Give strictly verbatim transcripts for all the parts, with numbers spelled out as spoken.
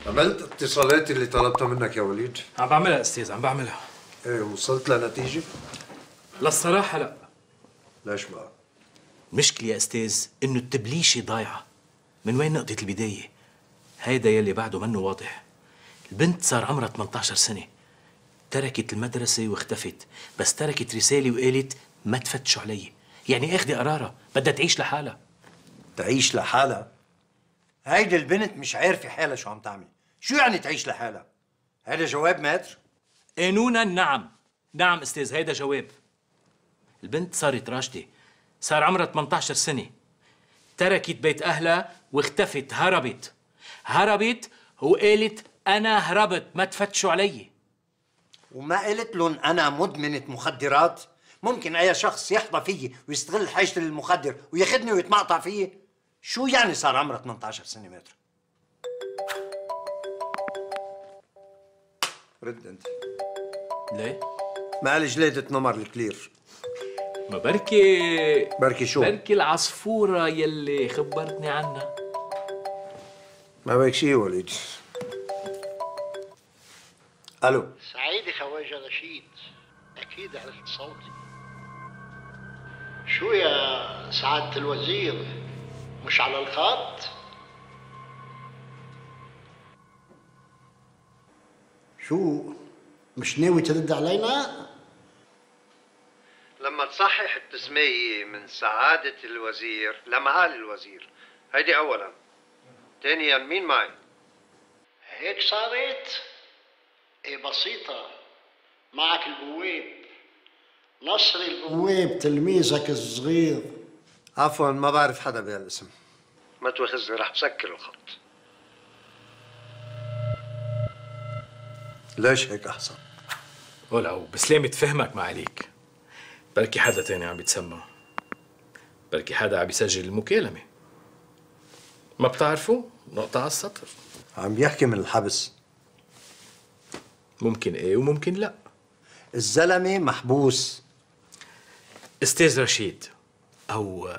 عملت اتصالات اللي طلبتها منك يا وليد؟ عم بعملها استاذ، عم بعملها. ايه وصلت لنتيجة؟ للصراحة لا. ليش بقى؟ المشكلة يا استاذ انه التبليشة ضايعة. من وين نقطة البداية؟ هيدا يلي بعده منه واضح. البنت صار عمرها ثمانية عشر سنة، تركت المدرسة واختفت، بس تركت رسالة وقالت ما تفتشوا علي، يعني اخذي قرارها، بدها تعيش لحالها. تعيش لحالها؟ هيدي البنت مش عارفة حالها شو عم تعمل، شو يعني تعيش لحالها؟ هيدا جواب ماتر؟ قانونا نعم، نعم استاذ هيدا جواب. البنت صارت راشدة، صار عمرها ثمانية عشر سنة، تركت بيت أهلها واختفت، هربت هربت وقالت أنا هربت ما تفتشوا علي. وما قلت لهم أنا مدمنة مخدرات؟ ممكن أي شخص يحظى فيي ويستغل حاجتي للمخدر وياخذني ويتمقطع فيي؟ شو يعني صار عمرها ثمانية عشر سنة متر؟ رد انت. ليه؟ مالي جليدة نمر الكلير. ما بركي بركي شو؟ بركي العصفورة يلي خبرتني عنها. ما بك شي وليد. الو. سعيدي خواجة رشيد، أكيد عرفت صوتي. شو يا سعادة الوزير، مش على الخط؟ شو مش ناوي ترد علينا؟ لما تصحح التسمية من سعادة الوزير لمعالي الوزير، هيدي أولا. ثانيا مين معي؟ هيك صارت؟ ايه بسيطة، معك البواب نصري البواب. بواب تلميذك الصغير. عفوا ما بعرف حدا بهالاسم. ما تواخذني رح بسكر الخط. ليش هيك أحسن؟ ولو بسلامة فهمك ما عليك، بركي حدا تاني عم بيتسمى، بركي حدا عم بيسجل المكالمة، ما بتعرفوا؟ نقطة على السطر. عم يحكي من الحبس. ممكن ايه وممكن لا. الزلمة محبوس. استاذ رشيد او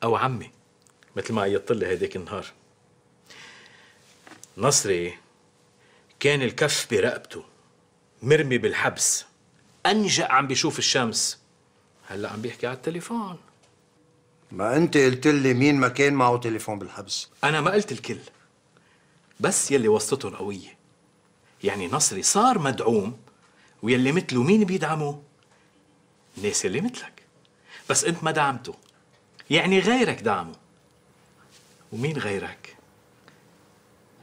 او عمي مثل ما عيطت لي هيداك النهار، نصري كان الكف برقبته مرمي بالحبس، انجأ عم بيشوف الشمس، هلا عم بيحكي على التليفون. ما أنت قلت لي مين ما كان معه تليفون بالحبس. انا ما قلت الكل، بس يلي وسطته القوية. يعني نصري صار مدعوم، ويلي مثله مين بيدعمه؟ الناس اللي مثلك، بس انت ما دعمته، يعني غيرك دعمه. ومين غيرك؟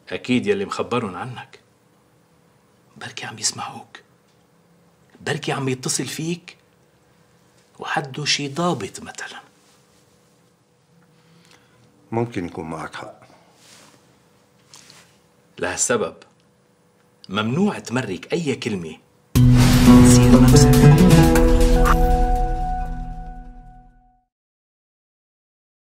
اكيد يلي مخبرن عنك، بركي عم يسمعوك، بركي عم يتصل فيك وحده شي ضابط مثلا. ممكن يكون معك حق. لهالسبب ممنوع تمرك اي كلمة